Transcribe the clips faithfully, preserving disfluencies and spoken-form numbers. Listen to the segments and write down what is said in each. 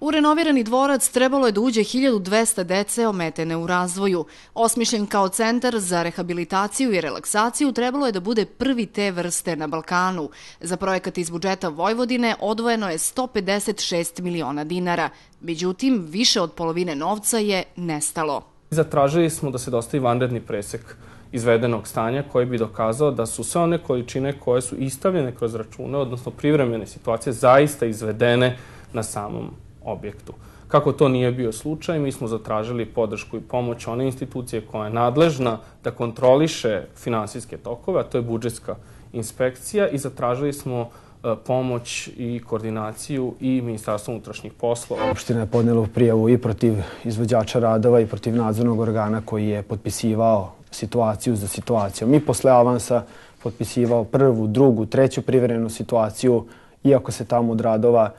U renovirani dvorac trebalo je da uđe hiljadu dvesta dece ometene u razvoju. Osmišljen kao centar za rehabilitaciju i relaksaciju, trebalo je da bude prvi te vrste na Balkanu. Za projekat iz budžeta Vojvodine odvojeno je sto pedeset šest miliona dinara. Međutim, više od polovine novca je nestalo. Zatražili smo da se dostavi vanredni presek izvedenog stanja koji bi dokazao da su sve one količine koje su istavljene kroz račune, odnosno privremene situacije, zaista izvedene na samom objektu. Kako to nije bio slučaj, mi smo zatražili podršku i pomoć one institucije koja je nadležna da kontroliše finansijske tokove, a to je budžetska inspekcija, i zatražili smo pomoć i koordinaciju i Ministarstva unutrašnjih poslova. Opština je podnela prijavu i protiv izvođača radova i protiv nadzornog organa koji je potpisivao situaciju za situacijom. I posle avansa potpisivao prvu, drugu, treću privremenu situaciju, iako se tamo od radova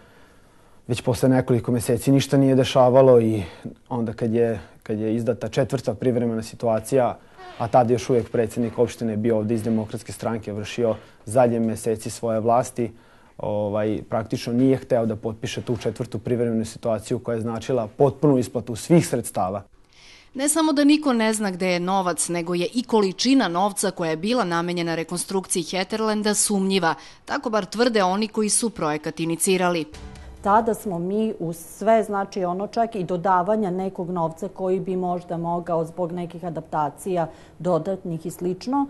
već posle nekoliko meseci ništa nije dešavalo, i onda kad je, kad je izdata četvrta privremena situacija, a tada još uvijek predsjednik opštine bio ovdje iz Demokratske stranke, vršio zadnje meseci svoje vlasti, ovaj, praktično nije hteo da potpiše tu četvrtu privremenu situaciju koja je značila potpunu isplatu svih sredstava. Ne samo da niko ne zna gde je novac, nego je i količina novca koja je bila namenjena rekonstrukciji Heterlenda sumnjiva. Tako bar tvrde oni koji su projekat inicirali. Tada smo mi uz sve, znači ono čak i dodavanja nekog novca koji bi možda mogao zbog nekih adaptacija dodatnih i slično,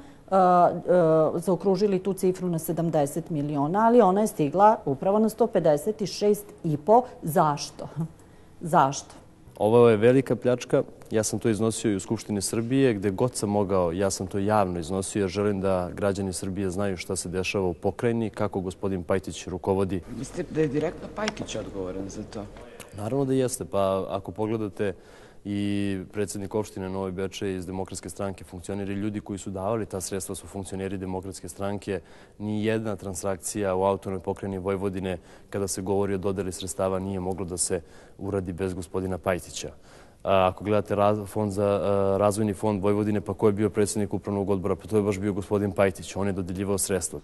zaokružili tu cifru na sedamdeset miliona, ali ona je stigla upravo na sto pedeset šest i po. Zašto? Zašto? Ovo je velika pljačka. Ja sam to iznosio i u Skupštini Srbije, gde god sam mogao, ja sam to javno iznosio, jer želim da građani Srbije znaju šta se dešava u pokrajini, kako gospodin Pajtić rukovodi. Mislite da je direktno Pajtić odgovoran za to? Naravno da jeste. Pa ako pogledate, i predsjednik opštine Novi Bečej iz Demokratske stranke, funkcioneri, ljudi koji su davali ta sredstva su funkcioneri Demokratske stranke. Ni jedna transakcija u autonomnoj pokrajini Vojvodine, kada se govori o dodeli sredstava, nije moglo da se uradi bez gospodina Pajtića. Ako gledate fond za razvojni fond Vojvodine, pa ko je bio predsjednik upravnog odbora, pa to je baš bio gospodin Pajtić. On je dodeljivao sredstva.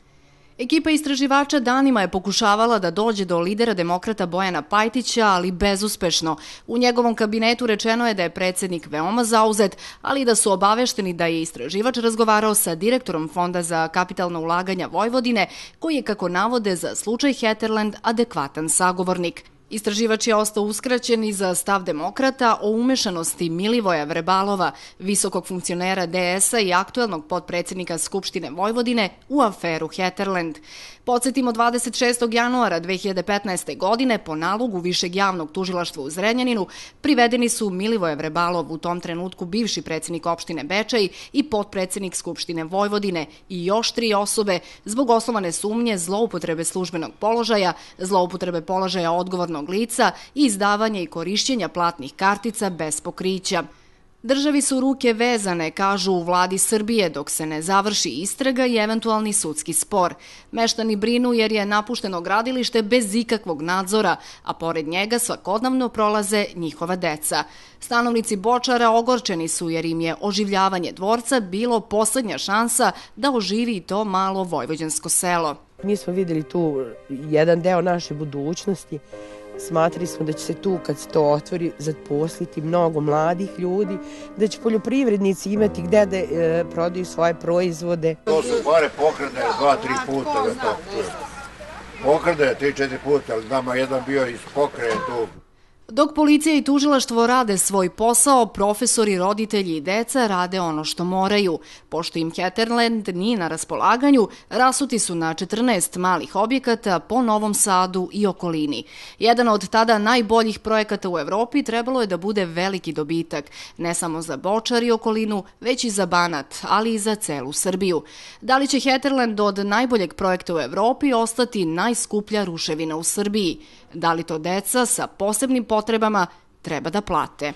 Ekipa istraživača danima je pokušavala da dođe do lidera demokrata Bojana Pajtića, ali bezuspešno. U njegovom kabinetu rečeno je da je predsjednik veoma zauzet, ali i da su obavešteni da je istraživač razgovarao sa direktorom Fonda za kapitalna ulaganja Vojvodine, koji je, kako navode, za slučaj Heterlend adekvatan sagovornik. Istraživač je ostao uskraćen i za stav demokrata o umešanosti Milivoja Vrebalova, visokog funkcionera D S-a i aktuelnog potpredsjednika Skupštine Vojvodine, u aferu Heterlend. Podsjetimo, dvadeset šestog januara dve hiljade petnaeste. godine po nalogu Višeg javnog tužilaštva u Zrenjaninu privedeni su Milivoje Vrebalov, u tom trenutku bivši predsjednik opštine Bečej i potpredsjednik Skupštine Vojvodine, i još tri osobe zbog osnovane sumnje zloupotrebe službenog položaja, zloupotrebe položaja odgovornog lica i izdavanja i korišćenja platnih kartica bez pokrića. Državi su ruke vezane, kažu u vladi Srbije, dok se ne završi istraga i eventualni sudski spor. Meštani brinu jer je napušteno gradilište bez ikakvog nadzora, a pored njega svakodnevno prolaze njihova deca. Stanovnici Bočara ogorčeni su jer im je oživljavanje dvorca bilo poslednja šansa da oživi to malo vojvođansko selo. Mi smo vidjeli tu jedan deo naše budućnosti. Smatrali smo da će se tu, kad se to otvori, zaposliti mnogo mladih ljudi, da će poljoprivrednici imati gde da e, prodaju svoje proizvode. To su pare pokrade dva, tri puta. Da to pokrade tri, četiri puta, ali nama jedan bio iz pokrade tu. Dok policija i tužilaštvo rade svoj posao, profesori, roditelji i deca rade ono što moraju. Pošto im Heterlend nije na raspolaganju, rasuti su na četrnaest malih objekata po Novom Sadu i okolini. Jedan od tada najboljih projekata u Evropi trebalo je da bude veliki dobitak, ne samo za Bočar i okolinu, već i za Banat, ali i za celu Srbiju. Da li će Heterlend od najboljeg projekta u Evropi ostati najskuplja ruševina u Srbiji? Da li to deca sa posebnim potrebama treba da plate?